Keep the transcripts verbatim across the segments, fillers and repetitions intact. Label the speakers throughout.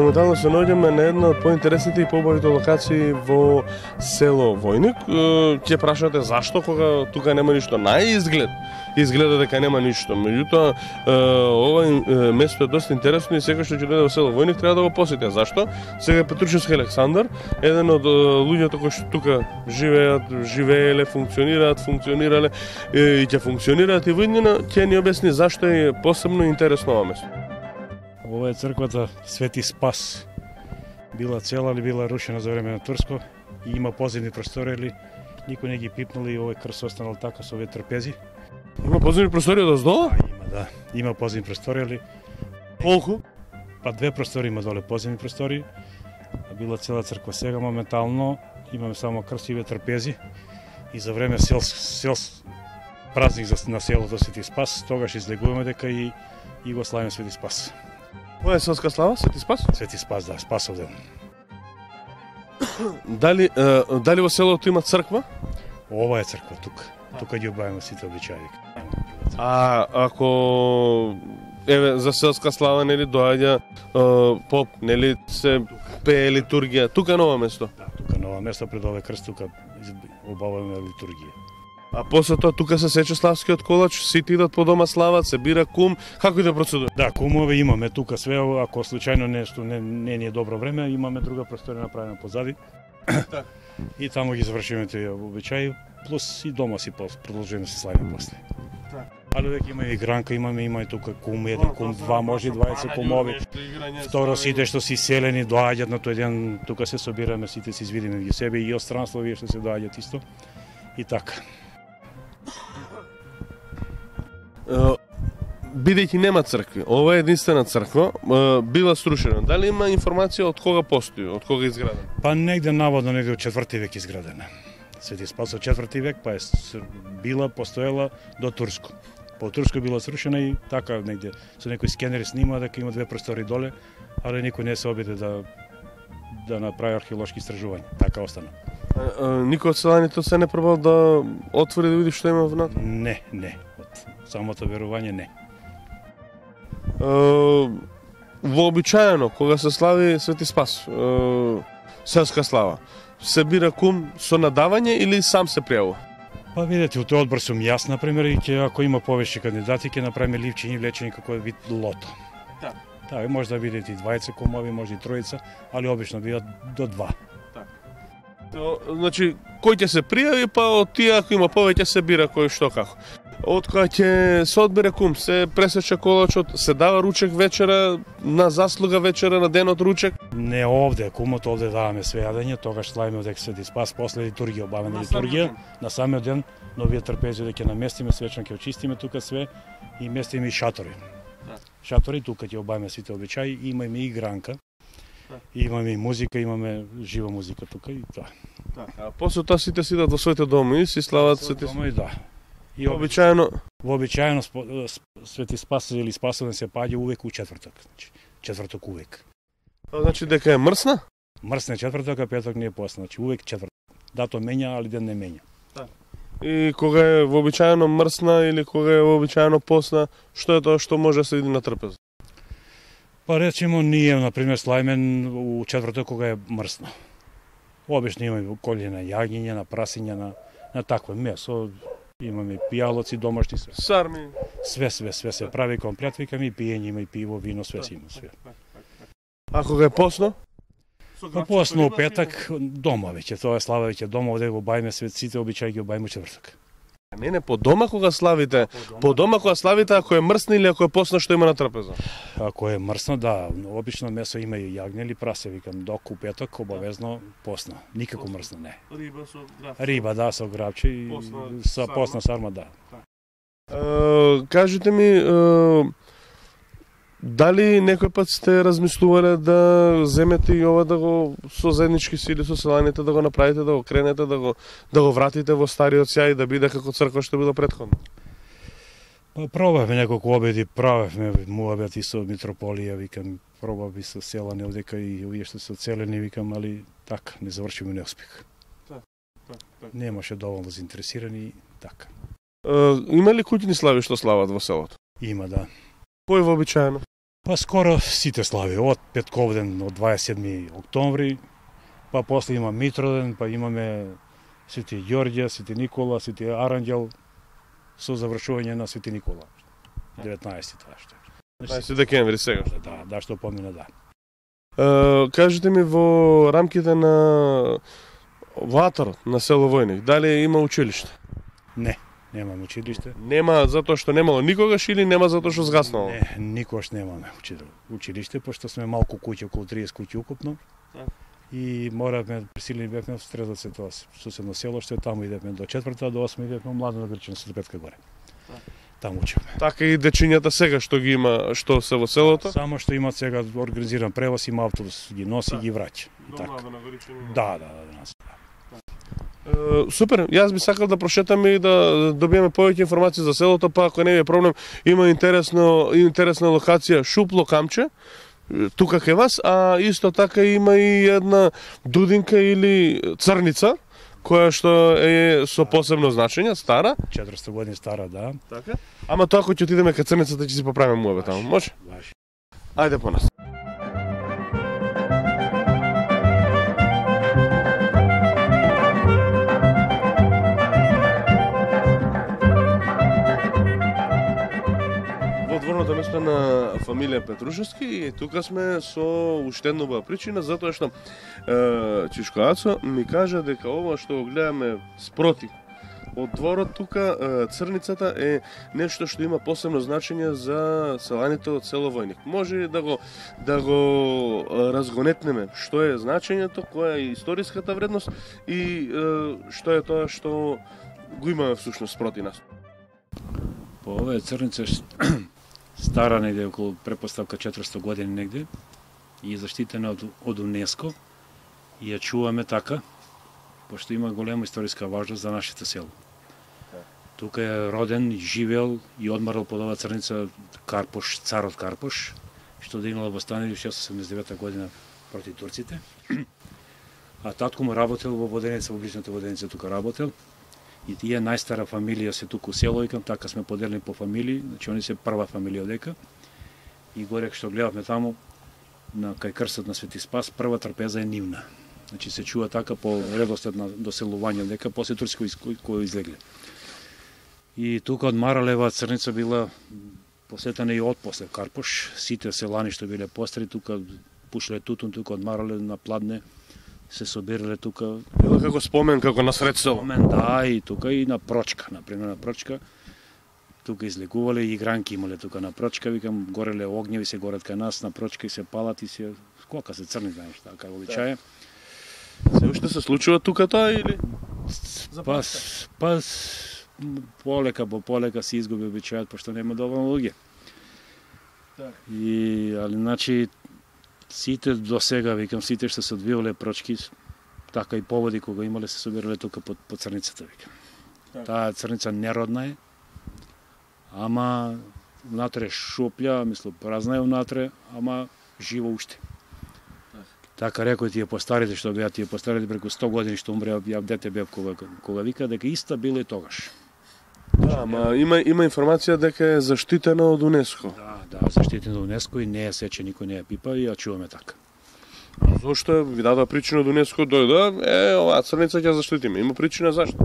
Speaker 1: Моментално се наоѓаме на една од поинтересните и поубавите локации во село Војник. Ќе прашате зашто кога тука нема ништо. Најизглед изгледа дека нема ништо. Меѓутоа, ова место е доста интересно и секој што ќе дојде во село Војник треба да го посети. Зашто? Сега Петрушевски Александар, еден од луѓето кои што тука живеат, живееле, функционираат, функционирале и ќе функционираат и во иднина, ќе ни објасни зашто е посебно интересно ова место.
Speaker 2: Ова е црквата Свети Спас. Била цела или била рушена за време на Турско и има поземни простори или никој не ги пипнал и овој крст останал така со овие трпези.
Speaker 1: Има поземни простори одоздола?
Speaker 2: Да, има, да. Има поземни простори или
Speaker 1: Колку?
Speaker 2: Па две простори има доле поземни простори. Била цела црква. Сега моментално имаме само крст и овие трпези и за време сел сел празник за на селото Свети Спас, тогаш излегуваме дека и и го славиме Свети Спас.
Speaker 1: Која е селска слава? Свети Спас?
Speaker 2: Свети Спас, да, Спасов ден.
Speaker 1: Дали, е, дали во селото има црква?
Speaker 2: Ова е црква тука. Тука ги обаваме сите обичаи.
Speaker 1: А ако еве за селска слава нели доаѓа поп, нели се пее литургија тука на ова место?
Speaker 2: Да, тука на ова место пред овој крст тука обаваме литургија.
Speaker 1: А после тоа тука се сече славскиот колач, сите идат по дома слават, се бира кум, како и да процедура?
Speaker 2: Да, кумове имаме тука све, ако случајно нешто не, не ни е добро време, имаме друга просторија направена позади.
Speaker 1: Так.
Speaker 2: И таму ги завршиме тие обичаи, плюс и дома си продолжиме се славиме после.
Speaker 1: Так.
Speaker 2: Али веќе има и гранка, имаме има и тука кум, еден кум, два, може и дваесет кумови. Второ, сите што си селени доаѓаат на тој ден, тука се собираме, сите се извидиме меѓу себе и од странство вие што се доаѓаат исто. И така.
Speaker 1: Бидејќи нема цркви, ова е единствена црква, била срушена. Дали има информација од кога постои, од кога е изградена?
Speaker 2: Па негде наводно негде од четврти век изградена. Свети Спас од четврти век, па е била постоела до Турско. По Турско била срушена и така негде со некои скенери снима дека има две простори доле, али никој не се обиде да да направи археолошки истражувања. Така остана.
Speaker 1: А, а, никој од селаните се не пробал да отвори да види што има внатре?
Speaker 2: Не, не. Од самото верување не.
Speaker 1: Uh, вообичаено, кога се слави Свети Спас, uh, селска слава, се бира кум со надавање или сам се пријавува?
Speaker 2: Па видете, у тој одбор сум јас, например, и ќе, ако има повеќе кандидати, ќе направиме ливчињи влечени како вид лото.
Speaker 1: Да.
Speaker 2: Да, може да бидат и двајца кумови, може и тројца, али обично бидат до два.
Speaker 1: Так. То, значи, кој ќе се пријави, па од тие, ако има повеќе, се бира кој што како. Од кога ќе се одбере кум, се пресече колачот, се дава ручек вечера, на заслуга вечера, на денот ручек?
Speaker 2: Не овде, кумот овде даваме све јадење, тогаш славиме од Свети Спас, после литургија, обавена литургија, на самиот ден, но овие трпези ќе наместиме, свечно ќе очистиме тука све и местиме и шатори. Да. Шатори тука ќе обавиме сите обичаи, имаме и гранка, да. Имаме и музика, имаме жива музика тука и тоа.
Speaker 1: Да. А после тоа сите сидат во своите дома и си слават Свети
Speaker 2: Спас. Да.
Speaker 1: И обичаено
Speaker 2: вообичаено Свети Спас или Спасовен се паѓа увек у четврток, значи четврток увек.
Speaker 1: Значи дека е мрсна?
Speaker 2: Мрсна четврток, а петок не е посна, значи увек четврток. Дато менја, али ден не менја.
Speaker 1: Да. И кога е вообичаено мрсна или кога е вообичаено посна, што е тоа што може да се види на трпеза?
Speaker 2: Па речемо ние на пример славиме у четврток кога е мрсна. Обично имаме колје на јагниња, на прасиња, на на такво месо. Имаме пијалоци домашни све.
Speaker 1: Сарми.
Speaker 2: Све, све, све се прави комплет, викаме и пиење, има и пиво, вино, све си има, све.
Speaker 1: А кога е посно?
Speaker 2: Па посно у петак дома веќе, тоа е слава веќе дома, овде го бајме све, сите обичаи ги обајме четвртак.
Speaker 1: Не, не, по дома кога славите, по дома кога славите ако е мрсна или ако е посна што има на трпеза?
Speaker 2: Ако е мрсно, да, обично месо има и јагне или прасе, викам, док у петок обавезно посна, никако мрсно не.
Speaker 1: Риба со грабче.
Speaker 2: Риба, да, со грабче и со посна сарма, да.
Speaker 1: Uh, кажете ми, uh, дали некој пат сте размислувале да земете и ова да го со заеднички сили со селаните да го направите, да го кренете, да го да го вратите во стариот сјај да биде како црква што било претходно?
Speaker 2: Па пробавме неколку обеди, правевме муабети со митрополија, викам, пробави со селани овдека и овие што се оцелени, викам, али така, не завршиме неуспех.
Speaker 1: Так, так, так.
Speaker 2: Немаше доволно заинтересирани, така.
Speaker 1: Uh, има ли куќни слави што слават во селото?
Speaker 2: Има, да.
Speaker 1: Кој вообичаено?
Speaker 2: Па скоро сите слави, од Петковден од дваесет и седми октомври, па после има Митроден, па имаме Свети Ѓорѓе, Свети Никола, Свети Аранѓел, со завршување на Свети Никола. деветнаесети тоа што.
Speaker 1: деветнаесети декември сега.
Speaker 2: Да, да, што помина, да.
Speaker 1: Uh, кажете ми, во рамките на ватарот на село Војник, дали има училиште?
Speaker 2: Не, немаме училиште.
Speaker 1: Нема затоа што немало никогаш или нема затоа што згаснало?
Speaker 2: Не, никогаш немаме училиште, пошто сме малку куќи, околу триесет куќи укупно. Да. И моравме, присилени бевме в Стрезовце, тоа суседно село, што таму идевме до четврта, до осма идевме младо на Грчина, со Петка горе. Да. Таму учевме.
Speaker 1: Така и дечињата сега што ги има, што се во селото?
Speaker 2: Само што имаат сега организиран превоз, има автобус, ги носи и ги враќа.
Speaker 1: До на Горичина?
Speaker 2: Да, да, да, нас.
Speaker 1: Uh, супер, јас би сакал да прошетам и да добиеме повеќе информации за селото, па ако не е проблем, има интересно интересна локација Шупло камче тука кај вас, а исто така има и една дудинка или црница која што е со посебно значење, стара,
Speaker 2: четиристотини години стара, да.
Speaker 1: Така. Ама тоа кога ќе отидеме кај црницата ќе си поправиме муабе таму, може?
Speaker 2: Баш.
Speaker 1: Ајде по нас. Дворното место на фамилија Петрушевски и тука сме со уште една причина, затоа што е, Чичко Ацо ми кажа дека ова што го гледаме спроти од дворот тука, е, црницата е нешто што има посебно значење за селаните од село Војник. Може да го да го разгонетнеме што е значењето, која е историската вредност и е, што е тоа што го имаме всушност спроти нас.
Speaker 2: По ова е црница стара негде околу препоставка четиристотини години негде и е заштитена од, од УНЕСКО и ја чуваме така, пошто има голема историска важност за нашето село. Тука е роден, живеел и одмарал под оваа црница Карпош, царот Карпош, што дигнал восстание во шестстотини седумдесет и девета година против турците. А татко му работел во Воденица, во близната Воденица тука работел. И тие најстара фамилија се туку село, икам, така сме поделени по фамилии, значи они се прва фамилија одека. И горе што гледавме таму, на кај крстот на Свети Спас, прва трпеза е нивна. Значи се чува така по редослед на доселување одека, после турци кои, кои излегле. И тука од Маралева црница била посетена и од после Карпош, сите селани што биле постари тука, пушле тутун тука од Маралев на Пладне, се собирале тука.
Speaker 1: Било како спомен, како насред село.
Speaker 2: Спомен, да, и тука и на Прочка, например на Прочка. Тука излегувале и игранки имале тука на Прочка, викам, гореле огњеви се горат кај нас, на Прочка и се палат и се скока се црни, знаеш, така обичај.
Speaker 1: Се уште се случува тука тоа или?
Speaker 2: Пас, пас, полека по полека се изгуби обичајот, пошто нема доволно луѓе. И, али, значи, сите до сега, викам, сите што се одвивале Прочки, така и поводи кога имале се собирале тука под, под црницата, викам. Так. Таа црница неродна е, ама внатре шуплја, мисло, празна е внатре, ама живо уште. Так. Така рекој тие постарите што беа, тие постарите преку сто години што умреа, ја дете бев кога, кога вика дека иста било и тогаш.
Speaker 1: Да, ама има има информација дека е заштитена од УНЕСКО.
Speaker 2: Да, да, заштитена од УНЕСКО и не е сече, никој не ја пипа и ја чуваме така.
Speaker 1: А зошто ви дадоа причина од УНЕСКО дојде, е, оваа црница ќе заштитиме. Има причина зашто?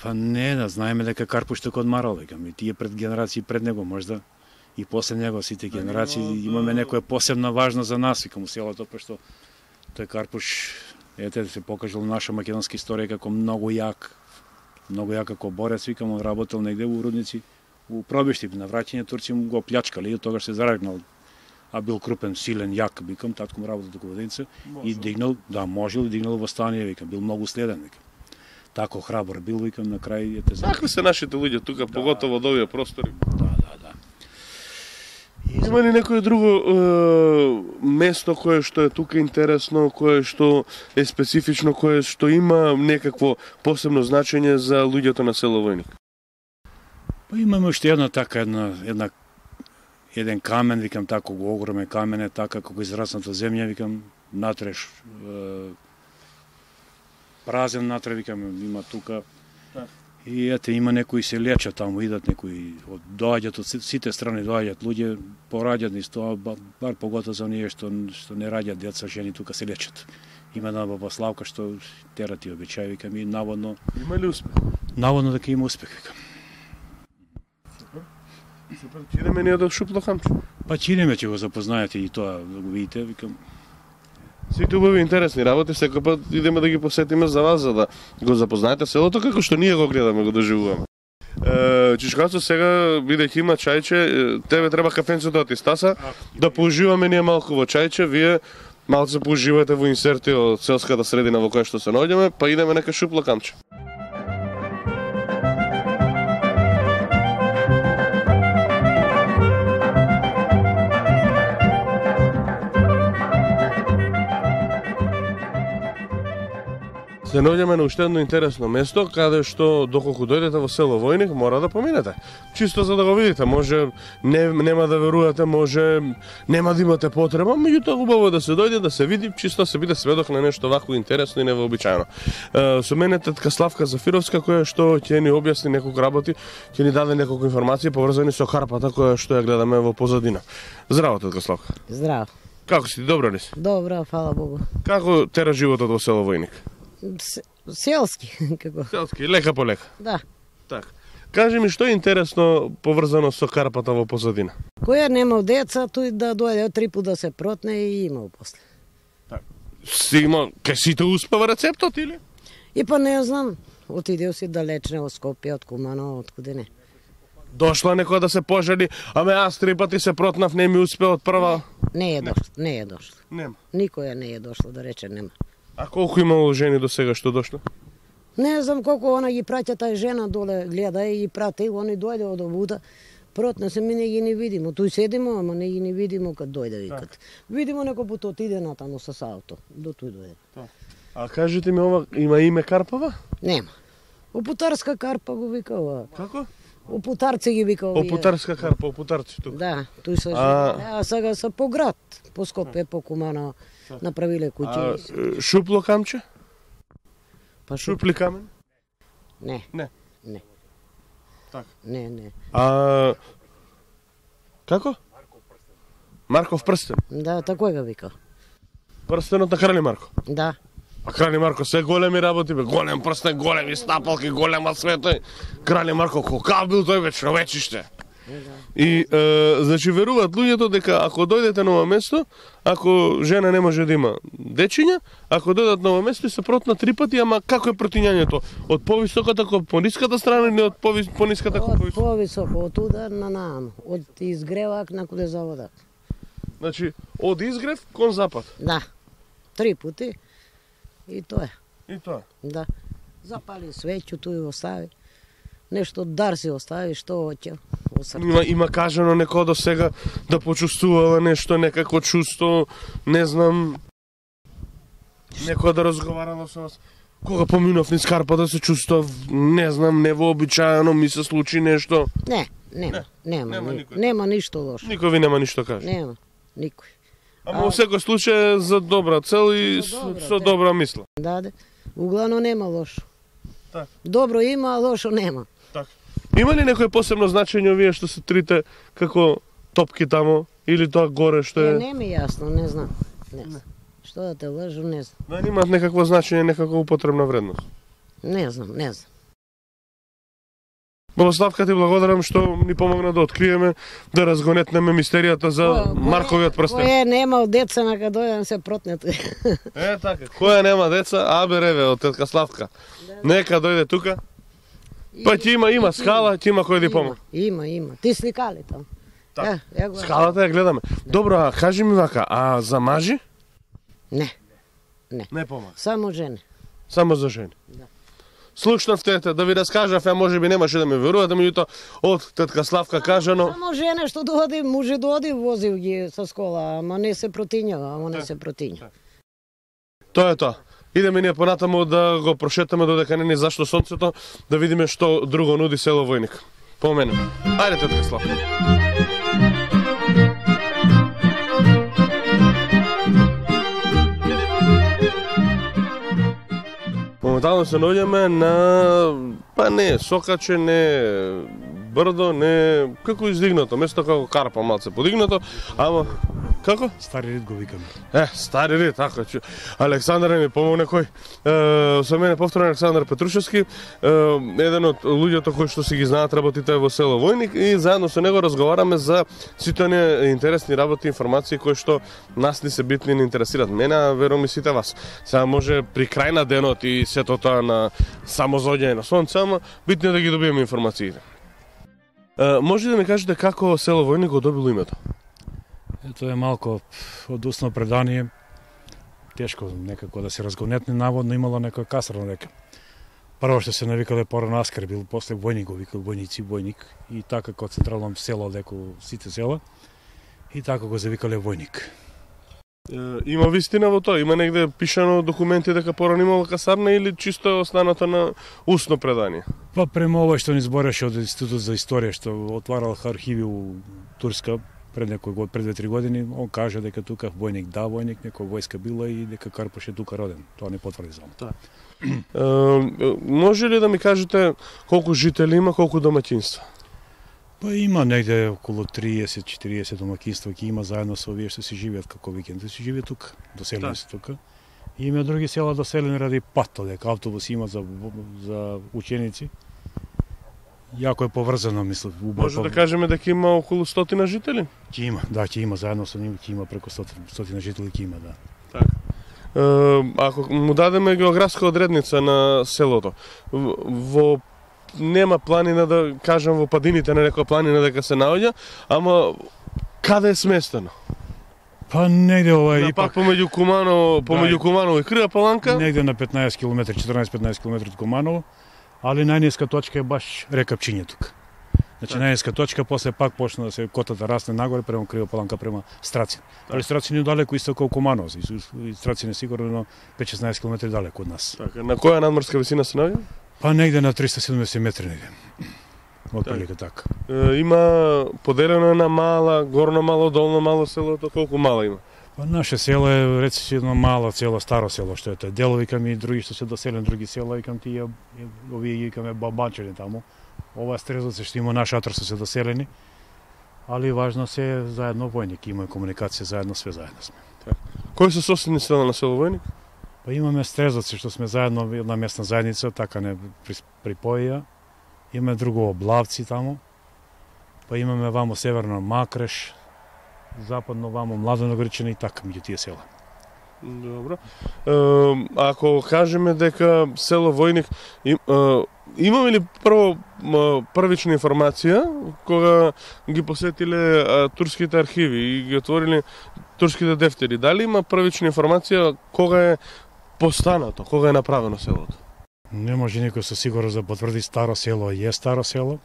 Speaker 2: Па не, да знаеме дека Карпош тука одмарал, викам, и тие пред генерации пред него можда и после него сите генерации имаме некоја посебна важност за нас, викам, у селото, пошто тој Карпош, ете, се покажал наша македонска историја како многу јак, многу јак како борец, викам, он работел негде во Рудници, у пробишти, на враќање турци му го плячкали и од тогаш се зарагнал. А бил крупен, силен, јак, викам, татко му работел тука во Воденица и дигнал, да, можел и дигнал восстание, викам, бил многу следен, викам. Тако храбар бил, викам, на крај ете за.
Speaker 1: Такви се нашите луѓе тука, да, поготово од овие простори.
Speaker 2: Да, да, да.
Speaker 1: И има ли некое друго е, место кое што е тука интересно, кое што е специфично, кое што има некакво посебно значење за луѓето на село Војник?
Speaker 2: Па имаме уште една така, една, една еден камен, викам, тако го огромен камен е, така како израсната земја, викам, натреш е, празен натре, викам, има тука. И ете, има некои се лечат таму, идат некои, од, доаѓат од сите страни, доаѓат луѓе, пораѓат низ тоа, бар поготово за оние што, што не раѓат деца, жени тука се лечат. Има една баба Славка што тера ти обичаи, викам, и наводно...
Speaker 1: Има ли успех?
Speaker 2: Наводно дека има успех, викам.
Speaker 1: Супер. Супер, ќе идеме ние до Шупло камче.
Speaker 2: Па ќе идеме, ќе го запознаете и тоа, да го видите, викам.
Speaker 1: Сите убави интересни работи, секој пат идеме да ги посетиме за вас, за да го запознаете селото како што ние го гледаме, го доживуваме. Е, Чичкацо, сега, бидејќи има чајче, тебе треба кафенцето да ти стаса, да поуживаме ние малку во чајче, вие малце поуживате во инсерти од селската средина во која што се наоѓаме, па идеме нека Шупло камче. Се наоѓаме на уште едно интересно место, каде што доколку дојдете во село Војник, мора да поминете. Чисто за да го видите, може не, нема да верувате, може нема да имате потреба, меѓутоа убаво е да се дојде, да се види, чисто се биде сведок на нешто вакво интересно и невообичаено. Е, со мене тетка Славка Зафировска, која што ќе ни објасни неколку работи, ќе ни даде неколку информации поврзани со карпата која што ја гледаме во позадина. Здраво, тетка Славка.
Speaker 3: Здраво.
Speaker 1: Како си, добро ли си?
Speaker 3: Добро, фала Богу.
Speaker 1: Како тера животот во село Војник?
Speaker 3: Селски, како?
Speaker 1: Селски, лека по лека.
Speaker 3: Да.
Speaker 1: Так. Кажи ми што е интересно поврзано со карпата во позадина?
Speaker 3: Која немал деца, тој да дојде три пат да се протне и имал после.
Speaker 1: Так. Си имал, кај сите успева рецептот или?
Speaker 3: И па не знам, отидео си далечне од Скопје, од Кумано, од куде не.
Speaker 1: Дошла некоја да се пожали, аме аз три пати се протнав, не ми успе од прва.
Speaker 3: Не е дошло, не е дошло.
Speaker 1: Нема.
Speaker 3: Никоја не е дошло, да рече нема.
Speaker 1: А колку имало жени до сега што дошле?
Speaker 3: Не знам колку она ги праќа тај жена доле, гледа и прати, они дојде од овуда, протна се, ми не ги не видимо. Тој седимо, ама не ги не видимо кад дојде, викат. Видимо некој пут отиде натаму со сауто, до тој дојде.
Speaker 1: А кажете ми, ова има име карпава?
Speaker 3: Нема. Опутарска карпа го вика ова.
Speaker 1: Како?
Speaker 3: Опутарци ги вика овие.
Speaker 1: Опутарска карпа, опутарци тука.
Speaker 3: Да, тој се
Speaker 1: А-
Speaker 3: а... а сега се по град, по Скопје, по Кумано, направиле куќи.
Speaker 1: А е, Шупло камче?
Speaker 3: Па шуп...
Speaker 1: Шупли камен?
Speaker 3: Не.
Speaker 1: Не.
Speaker 3: Не.
Speaker 1: Так.
Speaker 3: Не, не.
Speaker 1: А како? Марков прстен.
Speaker 3: Да, тако го вика.
Speaker 1: Прстенот на Крали Марко.
Speaker 3: Да.
Speaker 1: А Крали Марко се големи работи бе, голем прстен, големи стапалки, голема света. Крали Марко колкав бил тој бе, човечиште. И е, значи веруваат луѓето дека ако дојдете на ова место, ако жена не може да има дечиња, ако дојдат на ова место и се протнат три пати, ама како е протињањето? Од повисоката кон пониската страна или од повис, пониската кон
Speaker 3: Од
Speaker 1: повисоката?
Speaker 3: повисоко, од удар на нам, од изгревак на куде заводат.
Speaker 1: Значи, од изгрев кон запад.
Speaker 3: Да. Три пути. И тоа е.
Speaker 1: И тоа.
Speaker 3: Да. Запали свеќето и остави. Нешто дар си остави, што hoće.
Speaker 1: Има, има кажано некој до сега да почувствувала нешто, некако чувство, не знам, некој да разговарала со вас. Кога поминав низ Карпа да се чувствав, не знам, невообичаено, ми се случи нешто.
Speaker 3: Не, нема, нема,
Speaker 1: нема
Speaker 3: нема,
Speaker 1: никој.
Speaker 3: нема ништо лошо.
Speaker 1: Никој ви нема ништо каже.
Speaker 3: Нема, никој.
Speaker 1: Ама во секој случај е за добра цел и
Speaker 3: За
Speaker 1: со,
Speaker 3: добра,
Speaker 1: со
Speaker 3: те.
Speaker 1: добра мисла.
Speaker 3: Да, да. Углавно нема лошо.
Speaker 1: Так.
Speaker 3: Добро има, а лошо нема.
Speaker 1: Има ли некој посебно значење овие што се трите како топки тамо или тоа горе што
Speaker 3: Е,
Speaker 1: е?
Speaker 3: не ми е јасно, не знам. Не знам. Што да те лажу, не знам.
Speaker 1: Да имаат некакво значење, некаква употребна вредност.
Speaker 3: Не знам, не знам.
Speaker 1: Богославка, ти благодарам што ни помогна да откриеме, да разгонетнеме мистеријата за
Speaker 3: Кој-
Speaker 1: Марковиот прстен.
Speaker 3: Кој е немал деца, нека дојдам се протнет.
Speaker 1: Е, така. Која нема деца, абе реве од тетка Славка. Нека дојде тука. Па ќе има, има скала, ќе има кој да помогне.
Speaker 3: Има, има. Ти сликали там.
Speaker 1: Так.
Speaker 3: Ја, ја го...
Speaker 1: Скалата ја гледаме. Добро, а кажи ми вака, а за мажи?
Speaker 3: Не,
Speaker 1: Не помага.
Speaker 3: само жене.
Speaker 1: Само за жени.
Speaker 3: Да.
Speaker 1: Слушнавте, да ви раскажав, ја можеби немаше да ме верувате, меѓутоа од тетка Славка кажано.
Speaker 3: Само жене што доди, може доди, возил ги со скола, ама не се протињава, ама не се протиња.
Speaker 1: Тоа е тоа. Идеме ние понатаму да го прошетаме додека не ни зашто сонцето, да видиме што друго нуди село Војник. По мене. Ајде, тетка Славка. Моментално се наоѓаме на, па не, Сокаче, не брдо, не, како издигнато, место како Карпа малце подигнато, ама, како?
Speaker 2: Стари рид го викаме.
Speaker 1: Е, стари рид, така, че Александар ми помогне кој. Е, со мене повторно Александар Петрушевски, е, еден од луѓето кои што си ги знаат работите во село Војник и заедно со него разговараме за сите оние интересни работи, информации кои што нас ни се битни и ни интересираат. Мене, а верувам и сите вас. Сега може при крај на денот и сето тоа на самозоѓање на сонце, ама битно е да ги добиеме информациите. Е, може да ми кажете како село Војник го добило името?
Speaker 2: Тоа е малку одусно предание. Тешко некако да се разгонетне, наводно имало некоја касарна дека. Прво што се навикале порано Аскар, бил после Војник го викал Војници, Војник, и така како централно село деко сите села, и така го завикале Војник.
Speaker 1: Е, има вистина во тоа? Има негде пишано документи дека порано имало касарна или чисто е останато на устно предание?
Speaker 2: Па према ова што ни збореше од Институт за историја што отварал архиви у Турска пред некој год, пред две-три години, он кажа дека тука Војник да Војник, некоја војска била и дека Карпош е тука роден. Тоа не потврди само.
Speaker 1: Да. Е, може ли да ми кажете колку жители има, колку домаќинства?
Speaker 2: Па има негде околу триесет-четириесет домаќинства ќе има заедно со овие што си живеат како викенди, си живеат тука, доселени се тука. И има други села доселени ради пат, дека автобус има за за ученици. Јако е поврзано, мислам.
Speaker 1: Може да кажеме дека има околу стотина жители?
Speaker 2: Ќе има, да, ќе има заедно со нив, ќе има преку стотина жители, ќе има, да.
Speaker 1: Така. Е, ако му дадеме географска одредница на селото, во нема планина да кажам во падините на некоја планина дека се наоѓа, ама каде е сместено?
Speaker 2: Па негде ова е
Speaker 1: ипак помеѓу Куманово, помеѓу да, Куманово и Крива Паланка?
Speaker 2: Негде на петнаесет километри, четрнаесет-петнаесет километри од Куманово, али најниска точка е баш река Пчиње тука. Значи так. Најниска точка, после пак почна да се котата расне нагоре према Крива Паланка према Страцин. Так. Али Страцин е далеко исто како Куманово, и Страцин е сигурно пет-шеснаесет километри далеко од нас.
Speaker 1: Така, на која надморска висина се наоѓа?
Speaker 2: Па негде на триста седумдесет метри негде. Отприлика така.
Speaker 1: Е, има поделено на мала, горно мало, долно мало селото, колку мала има?
Speaker 2: Па наше село е реци едно мало село, старо село што е тоа. Дел викаме и други што се доселени други села, викам тие овие викаме бабанчани таму. Ова Стрезовци што има наш атрас се доселени. Али важно се заедно Војник, има комуникација заедно, све заедно сме.
Speaker 1: Так. Кои се соседни села на село Војник?
Speaker 2: Па имаме Стрезовци што сме заедно една местна заедница, така не припоја. Имаме друго Облавци таму. Па имаме вамо северно Макреш, западно вамо Младеногорчина и така меѓу тие села.
Speaker 1: Добро. Е, ако кажеме дека село Војник им, е, имаме ли прво првична информација кога ги посетиле а, турските архиви и ги отвориле турските дефтери? Дали има првична информација кога е постанато, кога е направено селото?
Speaker 2: Не може никој со сигурност да потврди старо село е старо село,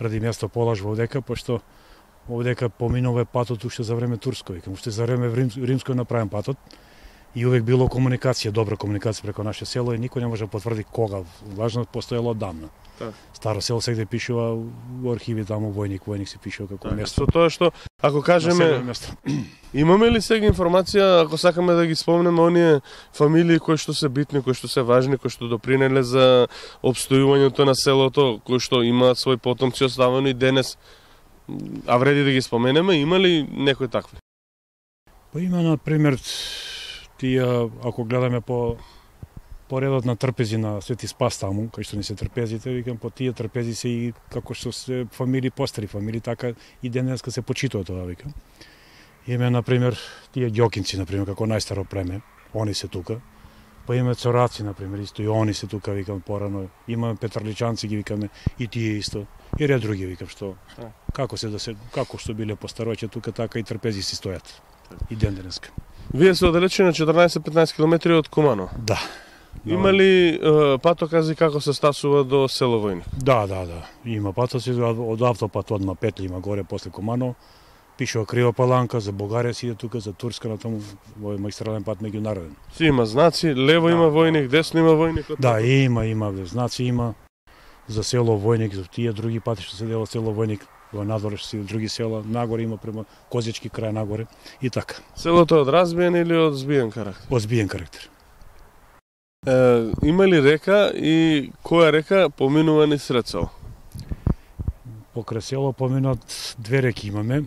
Speaker 2: ради место полажба овдека, пошто овдека поминува патот уште за време турско, викам, уште за време Рим, римско е направен патот и увек било комуникација, добра комуникација преку наше село и никој не може да потврди кога, важно постоело одамна. Так. Старо село сегде пишува во архиви таму Војник, Војник се пишува како так, место.
Speaker 1: Со тоа што ако кажеме имаме ли сега информација ако сакаме да ги спомнеме оние фамилии кои што се битни, кои што се важни, кои што допринеле за опстојувањето на селото, кои што имаат свој потомци оставени денес, а вреди да ги споменеме, има ли некои такви?
Speaker 2: Па има на пример тие ако гледаме по по редот на трпези на Свети Спас таму, кај што ни се трпезите, викам по тие трпези се и како што се фамилии постари фамилии, така и денеска се почитува тоа, викам. Име на пример тие ѓокинци на пример како најстаро племе, они се тука. Па имаме цораци на пример, исто и они се тука, викам порано. Имаме петрличанци ги викаме и тие исто. И ред други викам што како се да се како што биле постароќе тука така и трпези си стојат. И ден денеска.
Speaker 1: Вие се оддалечени на четрнаесет-петнаесет километри од Куманово.
Speaker 2: Да.
Speaker 1: Има ли е, патокази како се стасува до село Војник?
Speaker 2: Да, да, да. Има патоци од автопат од Петли има горе после Куманово. Пишува Крива Паланка, за Бугарија си иде тука, за Турска на таму, во магистрален пат меѓународен.
Speaker 1: Си има знаци, лево да, има Војник, десно има Војник.
Speaker 2: Да, има, има, знаци има за село Војник, за тие други пати што се дела село Војник, во надвор што си други села, нагоре има према Козички крај нагоре и така.
Speaker 1: Селото од разбиен или од збиен карактер?
Speaker 2: Од збиен карактер.
Speaker 1: Е, има ли река и која река поминува низ сред село?
Speaker 2: Покрај село поминат две реки имаме.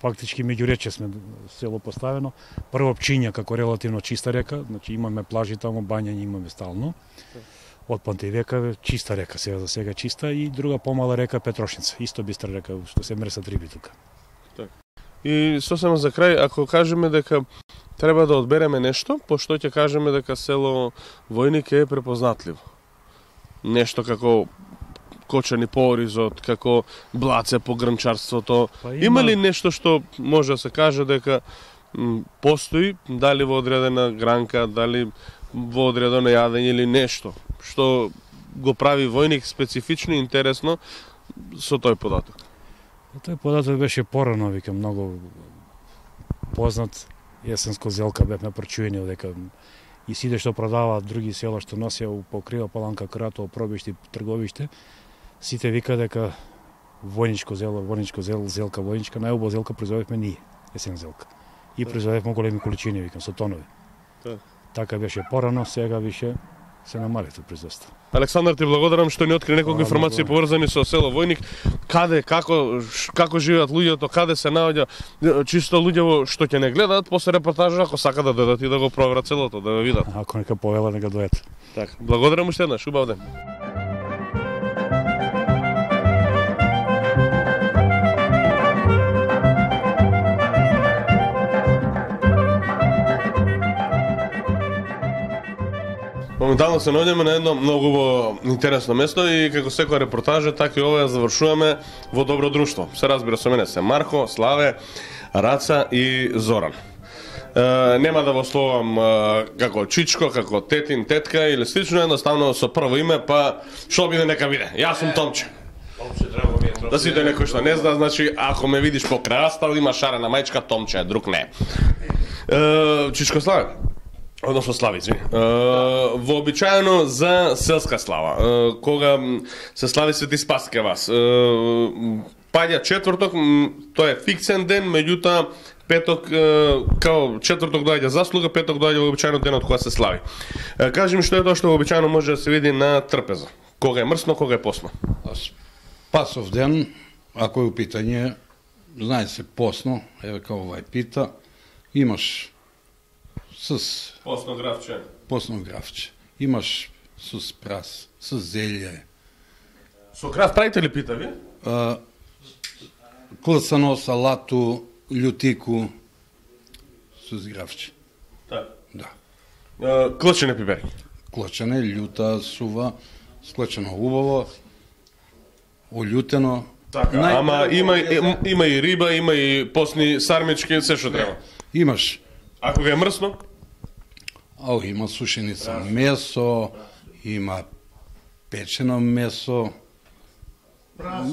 Speaker 2: Фактички меѓурече сме село поставено. Прво Пчиња како релативно чиста река, значи имаме плажи таму, бањање имаме стално. Од Пантејвека чиста река, сега за сега чиста, и друга помала река Петрошница, исто бистра река што се мресат риби тука.
Speaker 1: И сосема за крај, ако кажеме дека треба да одбереме нешто, пошто ќе кажеме дека село Војник е препознатливо. Нешто како Кочани Поризот, како Блаце по грнчарството. Па има... има ли нешто што може да се каже дека м, постои, дали во одредена гранка, дали во одредено јадење или нешто што го прави Војник специфично и интересно со тој податок?
Speaker 2: Тој податок беше порано, викам, многу познат. Есенско зелка бевме прочуени дека и сите што продаваат други села што носеа у Покрива, Паланка, Кратово, Пробишти, Трговиште, сите вика дека војничко зело, војничко зел, зелка војничка, најубава зелка производевме ние, есен зелка. И производевме големи количини, викам, со тонови. Да. Така беше порано, сега више се намали тоа производство.
Speaker 1: Александар, ти благодарам што ни откри неколку информации поврзани со село Војник. Каде, како, како живеат луѓето, каде се наоѓа, чисто луѓе што ќе не гледаат после репортажа, ако сака да додат и да го проверат селото, да го видат.
Speaker 2: Ако нека повела, нека дојдат.
Speaker 1: Така, благодарам уште еднаш, убав ден. Моментално се наоѓаме на едно многу интересно место и како секоја репортажа, така и ова ја завршуваме во добро друштво. Се разбира со мене се Марко, Славе, Раца и Зоран. Е, нема да во словам е, како Чичко, како тетин, тетка или слично, едноставно со прво име, па што биде нека биде. Јас сум Томче. Томче, драго ми е. Да сите некој што не зна, значи ако ме видиш по крајастал, има шарена мајчка Томче, друг не. Е, Чичко Славе. Односно Слави, извини. Uh, вообичаено за селска слава, uh, кога се слави Свети Спас ке вас, uh, паѓа четврток, тоа е фиксен ден, меѓутоа петок, uh, као четврток доаѓа заслуга, петок доаѓа вообичаено денот кога се слави. Uh, кажи ми што е тоа што вообичаено може да се види на трпеза? Кога е мрсно, кога е посно?
Speaker 4: Спасов ден, ако е у питање, знае се посно, еве као овај пита, имаш с
Speaker 1: посно графче.
Speaker 4: Посно графче. Имаш со спрас, со зелје.
Speaker 1: Со крав правите ли пита ви?
Speaker 4: А, класано, салату, љутику со графче.
Speaker 1: Так.
Speaker 4: Да.
Speaker 1: А, клачене пипери.
Speaker 4: Клачене, љута, сува, склачено убаво, олјутено.
Speaker 1: Така, Нај... ама има, има, има и риба, има и посни сармички, се што треба.
Speaker 4: Имаш.
Speaker 1: Ако ga е мрсно?
Speaker 4: Ау, има сушеница месо, има печено месо.
Speaker 1: Прасе.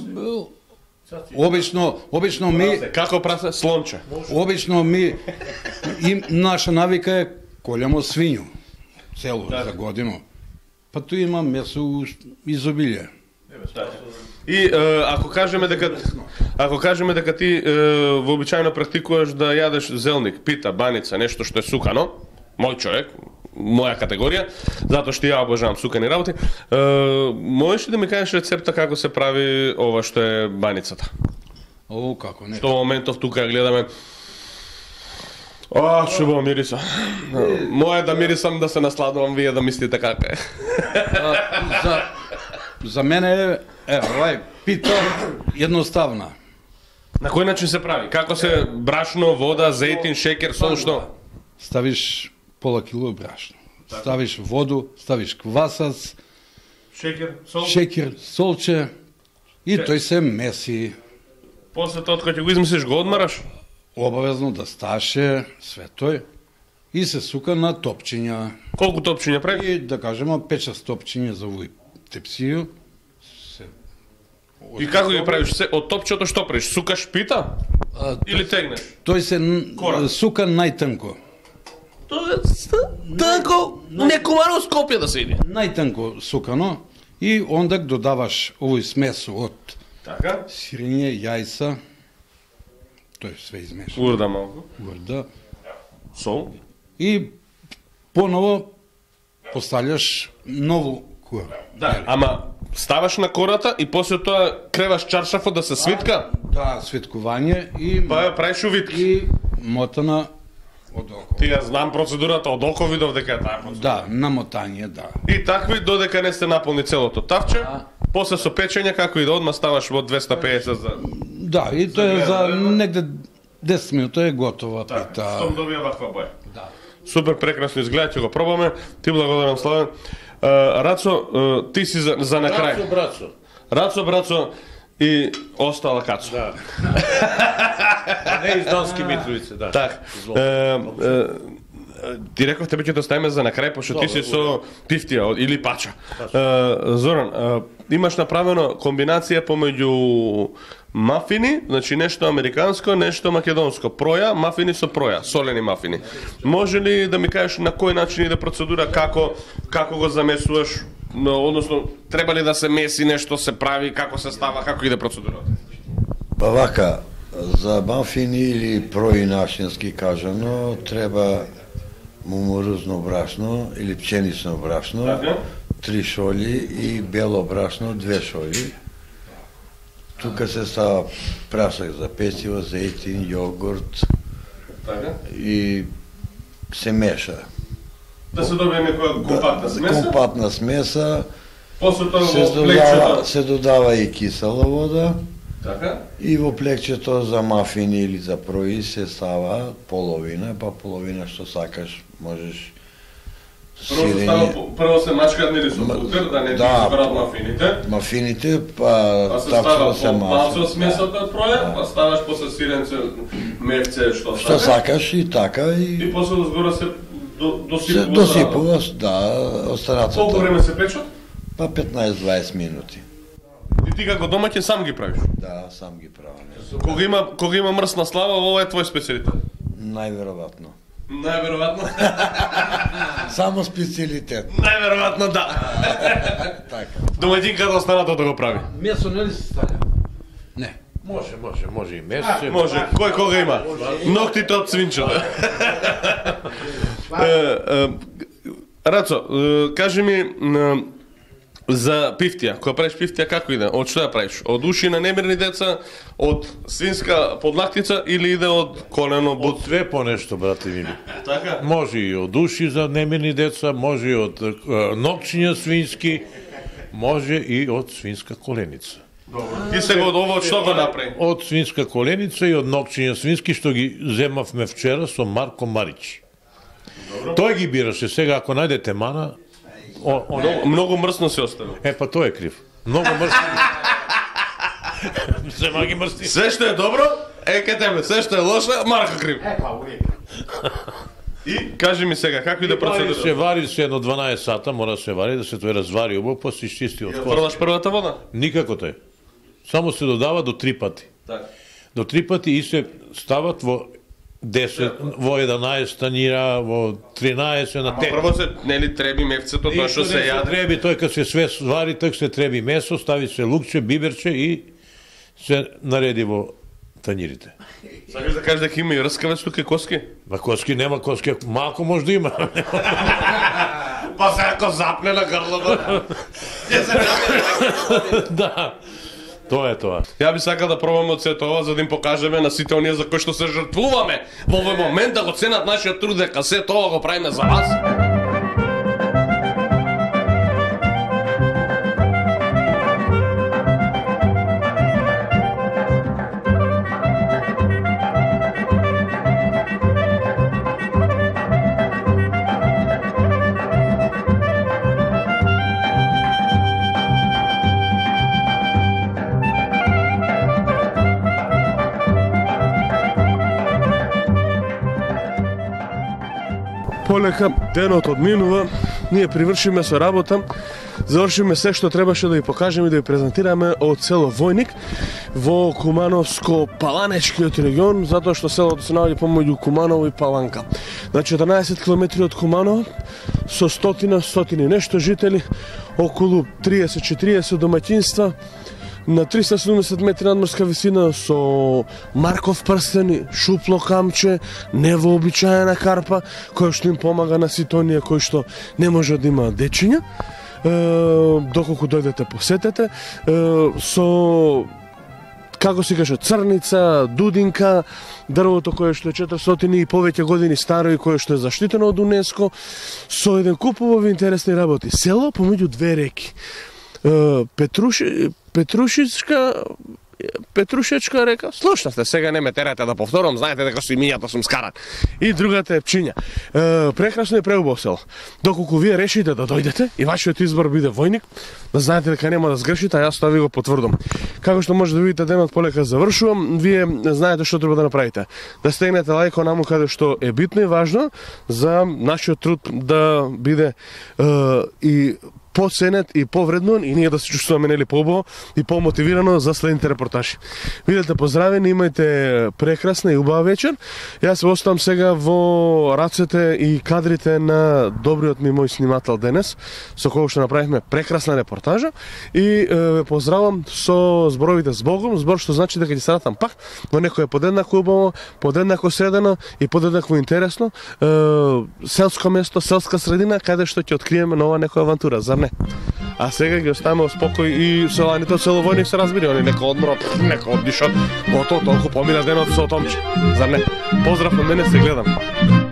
Speaker 4: Обично, обично ми...
Speaker 1: Како прасе? Слонче.
Speaker 4: Обично ми... Им, наша навика е колјамо свињу. Цело да. За годину. Па tu има месо изобилие.
Speaker 1: И е, ако кажеме дека ако кажеме дека ти е, вообичаено практикуваш да јадеш зелник, пита, баница, нешто што е сукано, мој човек, моја категорија, затоа што ја обожавам сукани работи, е, можеш ли да ми кажеш рецепта како се прави ова што е баницата?
Speaker 4: О, како не.
Speaker 1: Што во моментов тука гледаме. А, чубаво мириса. Моја да мирисам, да се насладувам, вие да мислите како е.
Speaker 4: За За мене е, е, овај пита едноставна.
Speaker 1: На кој начин се прави? Како се брашно, вода, зејтин, шекер, сол, што?
Speaker 4: Ставиш пола кило брашно. Ставиш воду, ставиш квасац,
Speaker 1: шекер, сол,
Speaker 4: шекер, солче и Ше... тој се меси.
Speaker 1: После тоа кога ќе го измислиш, го одмараш?
Speaker 4: Обавезно да сташе све тој и се сука на топчиња.
Speaker 1: Колку топчиња прави?
Speaker 4: И да кажеме пет-шест топчиња за овој тепсију. Се...
Speaker 1: И како ги правиш? Се, од топчето што правиш? Сукаш пита? А, или тегнеш?
Speaker 4: Тој се Корак. Сука најтанко.
Speaker 1: Тоа е танко, некомано скопје да се иде.
Speaker 4: Најтанко сукано и онда додаваш овој смесо од
Speaker 1: така?
Speaker 4: Сирење, јајца, тој све измешано.
Speaker 1: Урда малку.
Speaker 4: Урда.
Speaker 1: Сол.
Speaker 4: И поново поставljаш нову кора.
Speaker 1: Да, ама ставаш на кората и после тоа креваш чаршафот да се свитка?
Speaker 4: Да, свиткување и
Speaker 1: Па ја правиш увитки.
Speaker 4: и мотана од око.
Speaker 1: Ти ја знам процедурата од око, видов дека е таа процедура.
Speaker 4: Да, намотање, да.
Speaker 1: И такви додека не сте наполни целото тавче, после со печење како и да одма ставаш во двеста педесет за
Speaker 4: Да, и тоа е за негде десет минути е готова пита.
Speaker 1: Штом добија ваква боја.
Speaker 4: Да.
Speaker 1: Супер, прекрасно изгледа, ќе го пробаме. Ти благодарам, Славен. Uh, Рацо, uh, ти си за, за на крај.
Speaker 5: Рацо, брацо.
Speaker 1: Рацо, брацо и остала Кацо.
Speaker 5: Да. Не из Донски Митровице, да.
Speaker 1: Так. Ти реков тебе ќе да ставиме за на крај, пошто ти си со пифтија или пача. Uh, Зоран, uh, имаш направено комбинација помеѓу мафини, значи нешто американско, нешто македонско. Проја, мафини со проја, солени мафини. Може ли да ми кажеш на кој начин иде процедура, како како го замесуваш, односно треба ли да се меси нешто, се прави, како се става, како иде процедурата?
Speaker 6: Па вака, за мафини или прои нашински кажано, треба мумурузно брашно или пченично брашно,
Speaker 1: Така.
Speaker 6: три шоли и бело брашно, две шоли. Тука се става прасак за пecivo, зејтин, јогурт
Speaker 1: Така.
Speaker 6: и се меша.
Speaker 1: Да се добие некоја компактна смеса,
Speaker 6: Компактна смеса,
Speaker 1: после тоа
Speaker 6: се
Speaker 1: во
Speaker 6: додава,
Speaker 1: плекчето.
Speaker 6: се додава и кисела вода.
Speaker 1: Така.
Speaker 6: И во плекчето за мафини или за прои се става половина, па половина што сакаш, можеш
Speaker 1: Прво се става, прво се мачкаат нели со пултер, да не
Speaker 6: Да.
Speaker 1: ги изберат мафините.
Speaker 6: мафините, па
Speaker 1: Па се
Speaker 6: тапчето
Speaker 1: става
Speaker 6: се
Speaker 1: по малце од
Speaker 6: мачка.
Speaker 1: смесата проја, па ставаш после сиренце, мевце, што
Speaker 6: Што
Speaker 1: сакаш.
Speaker 6: сакаш и така
Speaker 1: И
Speaker 6: и
Speaker 1: после да згора се до-
Speaker 6: се
Speaker 1: досипува.
Speaker 6: досипува, да,
Speaker 1: Колку
Speaker 6: остарацата.
Speaker 1: време се печат?
Speaker 6: Па петнаесет-дваесет минути.
Speaker 1: И ти како домаќин сам ги правиш.
Speaker 6: Да, сам ги правам.
Speaker 1: Кога има кога има мрсна слава, ова е твој специјалитет.
Speaker 6: Најверојатно.
Speaker 1: Најверојатно.
Speaker 6: Само специјалитет.
Speaker 1: Најверојатно да.
Speaker 6: Така.
Speaker 1: Домаќинката останато да го прави.
Speaker 4: Месо нели се ставlja? Не.
Speaker 5: Може, може, може и месец.
Speaker 1: Може, кој кога има? Ноктите од свинчето. Е, е, Рацо, е, кажи ми е, за пифтија. Кога правиш пифтија како иде? Од што ја правиш? Од уши на немирни деца, од свинска подлактица или иде од колено
Speaker 5: Од
Speaker 1: бут?
Speaker 5: све по нешто, брате мили.
Speaker 1: Така?
Speaker 5: Може и од уши за немирни деца, може и од е, нокчиња свински, може и од свинска коленица.
Speaker 1: Ти се го од ово од што го направи?
Speaker 5: Од свинска коленица и од нокчиња свински што ги земавме вчера со Марко Марич. Тој ги бираше. Сега ако најдете мана, о, он...
Speaker 1: Многу, многу мрсно се оставил.
Speaker 5: е па тој е крив. Многу мрсни. Зема ги мрсни.
Speaker 1: Се што е добро, е ке тебе, се што е лошо, Марко крив. И кажи ми сега, како иде
Speaker 5: Вари се,
Speaker 1: процедура?
Speaker 5: вари се едно дванаесет сата, мора да се вари, да се тој развари убаво, после изчисти од
Speaker 1: Ја
Speaker 5: кост.
Speaker 1: продаш првата вода?
Speaker 5: Никако тој. Само се додава до три пати.
Speaker 1: Така.
Speaker 5: До три пати и се стават во десет, во еднаесет танира, во тринаесет на
Speaker 1: Ама
Speaker 5: те.
Speaker 1: прво се, нели, треби мевцето, тоа што се јаде.
Speaker 5: Треби, тој кога се све свари, тој се треби месо, стави се лукче, биберче и се нареди во танирите.
Speaker 1: Сакаш да кажеш дека има и рскавец тука и коски?
Speaker 5: Ма коски нема коски, малку може да има.
Speaker 1: Па се ако запне на грлото.
Speaker 5: Да. Тоа е тоа.
Speaker 1: Ја би сакал да пробаме од сето ова за да им покажеме на сите оние за кои што се жртвуваме во овој момент да го ценат нашиот труд дека сето ова го правиме за вас. Полека денот одминува, ние привршиме со работа, завршиме се што требаше да ви покажеме и да ви презентираме од село Војник во Кумановско-Паланечкиот регион, затоа што селото се наоѓа помеѓу Куманово и Паланка. На четрнаесет километри од Куманово, со стотина, стотини нешто жители, околу триесет-четириесет домаќинства, на триста и седумдесет метри надморска висина со марков прстен, шупло камче, невообичаена карпа, која што им помага на сите оние кои што не може да имаат дечиња. Доколку дојдете посетете, со како се каже, црница, дудинка, дрвото кое што е четиристотини и повеќе години старо и кое што е заштитено од УНЕСКО, со еден куп убави интересни работи. Село помеѓу две реки. Петруши, Петрушичка Петрушечка река, слушнавте, сега не ме терате да повторам, знаете дека со имињата сум скаран. И другата е Пчиња. Е, прекрасно и преубаво село. Доколку вие решите да дојдете и вашиот избор биде војник, да знаете дека нема да сгрешите, а јас тоа ви го потврдам. Како што може да видите, денот полека завршувам, вие знаете што треба да направите. Да стегнете лајко наму каде што е битно и важно за нашиот труд да биде е, и поценет и повреднуван и ние да се чувствуваме нели поубаво и помотивирано за следните репортажи. Бидете поздравени, имајте прекрасна и убава вечер. Јас се оставам сега во рацете и кадрите на добриот ми мој снимател денес, со кој што направивме прекрасна репортажа и ве поздравам со зборовите с Богом, збор што значи дека ќе се вратам пак во некое подеднако убаво, подеднако средено и подеднако интересно е, селско место, селска средина каде што ќе откриеме нова некоја авантура, зар не? А сега ги оставаме во спокој и селаните од село Војник се разбери, они нека одморат, нека оддишат, готово толку помина денот со Томче, зар не? Поздрав од мене, се гледам.